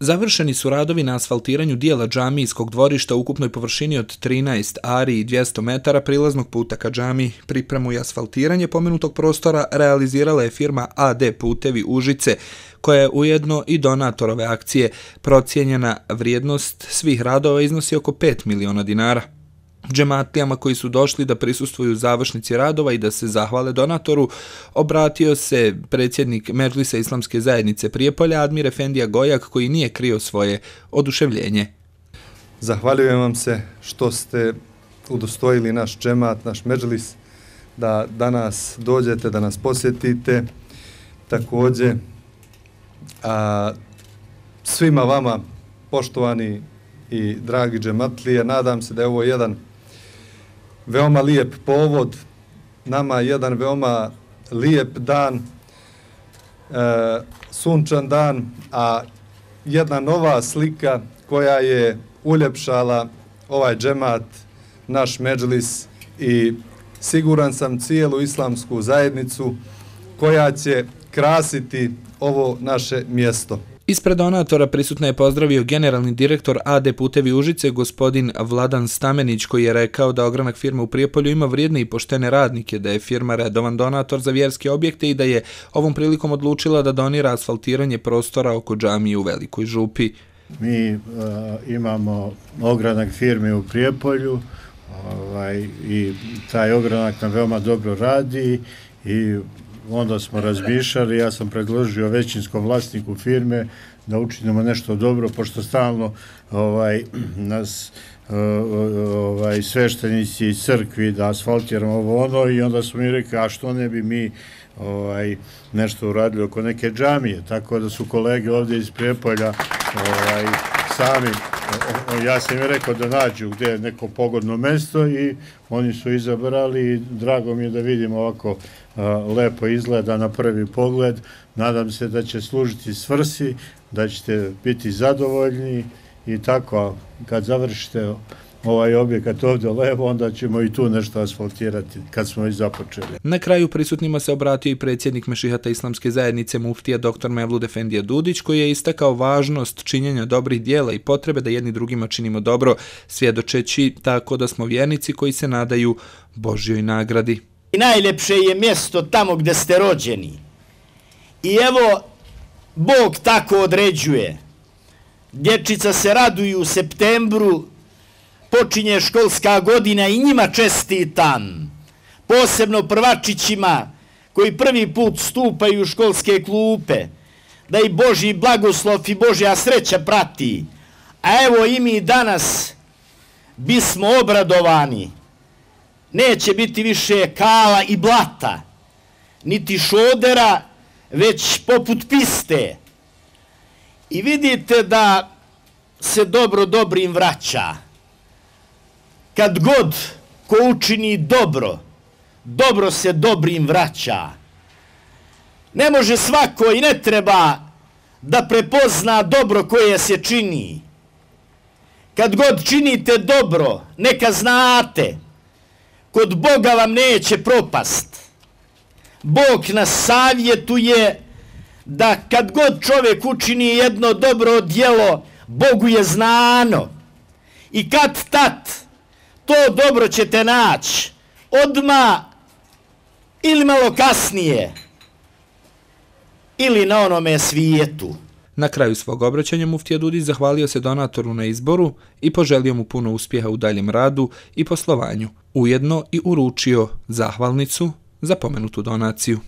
Završeni su radovi na asfaltiranju dijela džamijskog dvorišta u ukupnoj površini od 13 ari i 200 metara prilaznog puta ka džamiji. Pripremu i asfaltiranje pomenutog prostora realizirala je firma AD Putevi Užice, koja je ujedno i donator ove akcije. Procijenjena vrijednost svih radova iznosi oko 5 miliona dinara. Džematlijama koji su došli da prisustvuju završnici radova i da se zahvale donatoru, obratio se predsjednik Medžlisa Islamske zajednice Prijepolja, Admir Efendija Gojak, koji nije krio svoje oduševljenje. Zahvaljujem vam se što ste udostojili naš džemat, naš Medžlis, da danas dođete, da nas posjetite. Također, svima vama, poštovani i dragi džematlije, nadam se da je ovo jedan veoma lijep povod, nama jedan veoma lijep dan, sunčan dan, a jedna nova slika koja je uljepšala ovaj džemat, naš Medžlis i siguran sam cijelu islamsku zajednicu koja će krasiti ovo naše mjesto. Ispred donatora prisutno je pozdravio generalni direktor AD Putevi Užice, gospodin Vladan Stamenić, koji je rekao da ogranak firme u Prijepolju ima vrijedne i poštene radnike, da je firma redovan donator za vjerske objekte i da je ovom prilikom odlučila da donira asfaltiranje prostora oko džamije u Velikoj Župi. Mi imamo ogranak firme u Prijepolju i taj ogranak nam veoma dobro radi i onda smo razmišljali, ja sam predložio većinskom vlasniku firme da učinimo nešto dobro, pošto stalno nas sveštenici iz crkvi da asfaltiramo ovo ono i onda smo mi rekli, a što ne bi mi nešto uradili oko neke džamije, tako da su kolege ovdje iz Prijepolja sami, ja sam im rekao da nađu gdje je neko pogodno mjesto i oni su izabrali i drago mi je da vidimo ovako lepo izgleda na prvi pogled. Nadam se da će služiti svrsi, da ćete biti zadovoljni i tako, kad završite ovaj objekat ovdje levo, onda ćemo i tu nešto asfaltirati kad smo i započeli. Na kraju prisutnima se obratio i predsjednik Mešihata Islamske zajednice muftija dr. Mevlud Efendija Dudić, koji je istakao važnost činjenja dobrih dijela i potrebe da jedni drugima činimo dobro, svjedočeći tako da smo vjernici koji se nadaju Božjoj nagradi. I najljepše je mjesto tamo gdje ste rođeni. I evo, Bog tako određuje. Dječica se raduju u septembru, počinje školska godina i njima čestitam. Posebno prvačićima koji prvi put stupaju u školske klupe. Da i Božji blagoslov i Božja sreća prati. A evo i mi danas bismo obradovani. Neće biti više kala i blata, niti šodera, već poput piste. I vidite da se dobro dobrim vraća. Kad god ko učini dobro, dobro se dobrim vraća. Ne može svako i ne treba da prepozna dobro koje se čini. Kad god činite dobro, neka znate, kod Boga vam neće propast. Bog nas savjetuje da kad god čovjek učini jedno dobro djelo, Bogu je znano. I kad tad to dobro ćete naći, odmah ili malo kasnije, ili na onome svijetu. Na kraju svog obraćanja muftija Dudić zahvalio se donatoru na izboru i poželio mu puno uspjeha u daljem radu i poslovanju. Ujedno i uručio zahvalnicu za pomenutu donaciju.